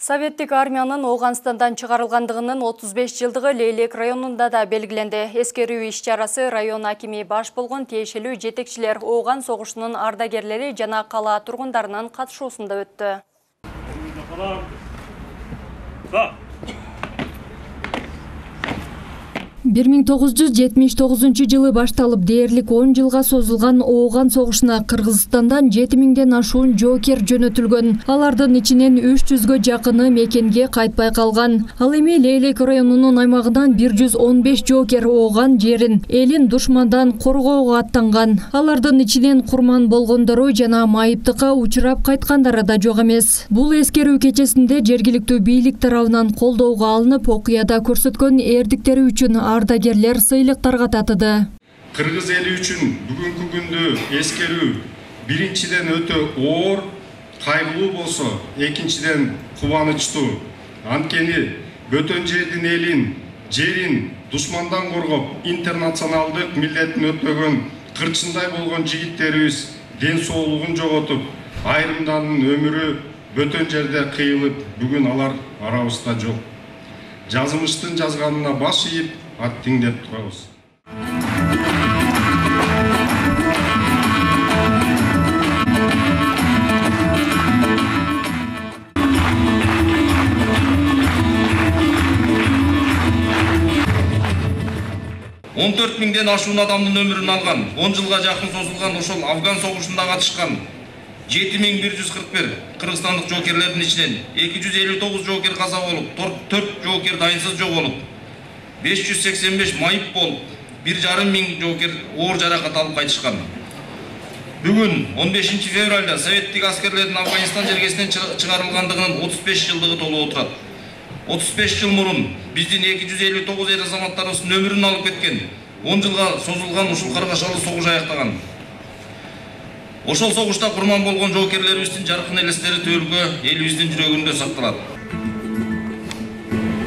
Советтик армиянын Ооганстандан чыгарылгандыгынын 35 жылдыгы Лейлек районунда да белгиленди. Эскерүү иш-чарасы район акими баш болгон тиешелүү жетекчилер, Ооган согушунун ардагерлери жана кала тургундарынын катышуусунда өттү. 1979 жылы башталып дээрлик 10 жылга созулган Ооган согушуна Кыргызстандан 7000ден ашуун жоокер жөнөтүлгөн. Алардын ичинен 300гө жакыны мекенге кайтпай калган. Ал эми Лейлек районунун аймагынан 115 жоокер Ооган жерин, элин душмандан коргоого аттанган. Алардын ичинен курман болгондору жана майыптыкка учурап кайткандары да жок эмес. Бул эскерүү кечесинде жергиликтүү бийлик тарабынан колдоого алынып, окуяда көрсөткөн эрдиктери үчүн ардагерлер сыйлыктарга татыды. Кыргыз эли үчүн бүгүнкү күндү эскерүү биринчиден өтө оор, кайгылуу болсо, экинчиден кубанычтуу. Анткени бөтөн жердин жерин душмандан коргоп, интернационалдык милдетин өтөгөн кырчындай болгон жигиттерибиз ден соолугун жоготуп, айрымдардын өмүрү бөтөн жерде кыйылып, бүгүн алар арабызда жок. Жазмыштын жазганына баш ийип, ат тиңдеп турабыз. Он 4.000ден ашуун адамдын өмүрүн алган, 10 жылга жакын созулган ошол Афган согушунда катышкан 7141 кыргызстандык жоокерлердин ичинен 259 жоокер каза болуп, 4 жоокер дайынсыз жоголуп, 585 майып болуп, 1,5 жоокер оор жаракат алып кайтышкан. Бүгүн 15 февралда советтик аскерлердин Афганистан жергесинен чыгарылгандыгынын 35 жылдыгы толуп отурат. 35 жыл мурун биздин 259 эр азаматтарыбыздын өмүрүн алып кеткен, 10 жылга созулган ушул каргашалуу согуш аяктаган. Ошол согушта курман болгон жоокерлерибиздин жаркын элестери төркү элибиздин жүрөгүндө сакталат.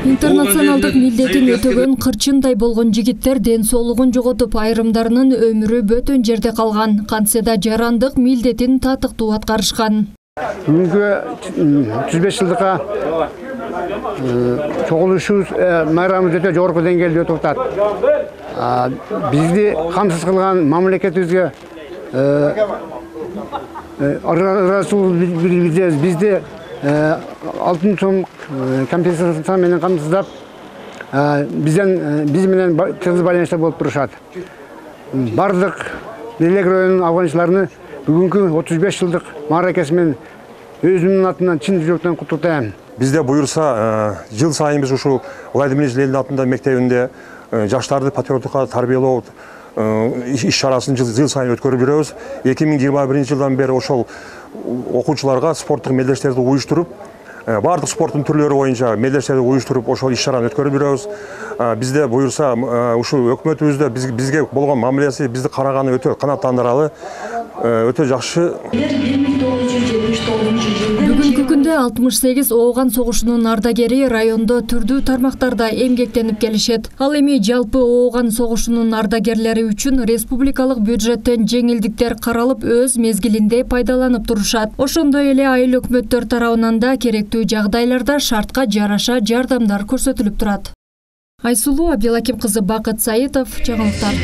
Интернационалдык милдетин өтөгөн кырчындай болгон жигиттер ден соолугун жоготуп, айрымдарынын өмүрү бөтөн жерде калган. Кантсе да жарандык милдетин татыктуу аткарышкан. Бүгүнкү 35 жылдыкка чогулушубуз майрамыбыз өтө жогорку деңгээлде өтүп атат. Бизди камсыз кылган мамлекетибизге бизди алтын сом компенсация менен камсыздап, биз менен тыгыз байланышта болуп турушат. Бардык Лейлек районунун афганчыларыны бүгүнкү 35 жылдык мааракеси менен өзүмдүн атынан чын жүрөктөн куттуктайм. Бизде буюрса, жыл сайын биз ушул Владимир Ленин атында мектебинде жаштарды патриоттукка тарбиялоо иш-чарасын жыл сайын өткөрүп жүрөбүз. 2021 жылдан бери ошол окуучуларга спорттук мелдештерди уюштуруп, бардык спорттун түрлөрү боюнча мелдештерди уюштуруп, ошол иш-чараны өткөрүп жүрөбүз. Бизде буюрса, ушул өкмөтүбүздө бизге болгон мамилеси бизди караганы өтө канааттандыралы, өтө жакшы. Бүгүнкү күндө 68 Ооган согушунун ардагери райондо түрдүү тармактарда эмгектенип келишет. Ал эми жалпы Ооган согушунун ардагерлери үчүн республикалык бюджеттен жеңилдиктер каралып, өз мезгилинде пайдаланып турушат. Ошондой эле айыл өкмөттөр тарабынан да керектүү жагдайларда шартка жараша жардамдар көрсөтүлүп турат. Айсулуу Абдилаким кызы, Бакыт Саитов, жаңылыктар.